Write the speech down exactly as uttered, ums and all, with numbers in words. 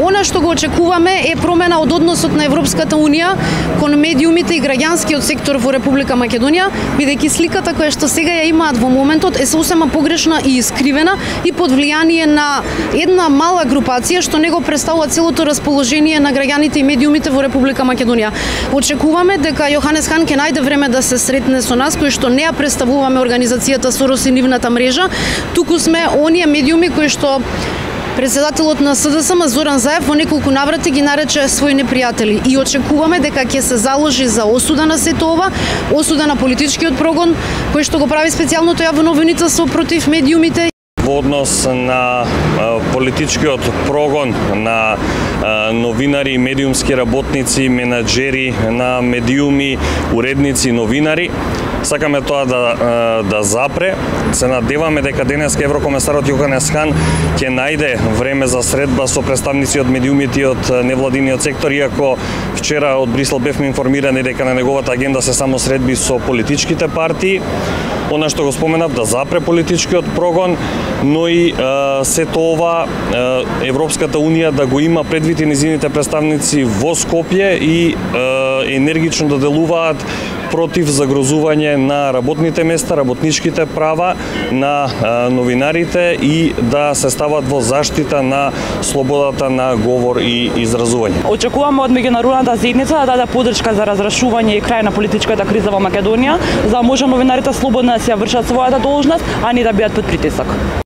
Она што го очекуваме е промена од односот на Европската унија кон медиумите и граѓанскиот сектор во Република Македонија, бидејќи сликата која што сега ја имаат во моментот е сосема погрешна и искривена и под влијание на една мала групација што не го представува целото расположение на граѓаните и медиумите во Република Македонија. Очекуваме дека Јоханес Хан ќе најде време да се сретне со нас, кои што не ја представуваме организацијата Сорос и нивната мрежа, туку сме оние медиуми кои што председателот на СДСМ Зоран Заев во неколку наврати ги нарече своји непријатели и очекуваме дека ќе се заложи за осуда на сето ова, осуда на политичкиот прогон кој што го прави специјалното јавно обвинителство против медиумите. Во однос на политичкиот прогон на новинари, медиумски работници, менаџери на медиуми, уредници, новинари, сакаме тоа да, да запре. Се надеваме дека денеска еврокомесарот Јоханес Хан ќе најде време за средба со представници од медиумите и од невладиниот сектор, иако вчера од Брисел бевме информирани дека на неговата агенда се само средби со политичките партии. Она што го споменав, да запре политичкиот прогон, но и е, сето ова е, Европската унија да го има предвид и низините представници во Скопје и е, енергично да делуваат против загрозување на работните места, работничките права на е, новинарите и да се стават во заштита на слободата на говор и изразување. Очекуваме од меѓународната заедница да даде поддршка за разрешување и крај на политичката криза во Македонија, за да може новинарите слободно да си ја вршат својата должност, а не да бидат под притисок.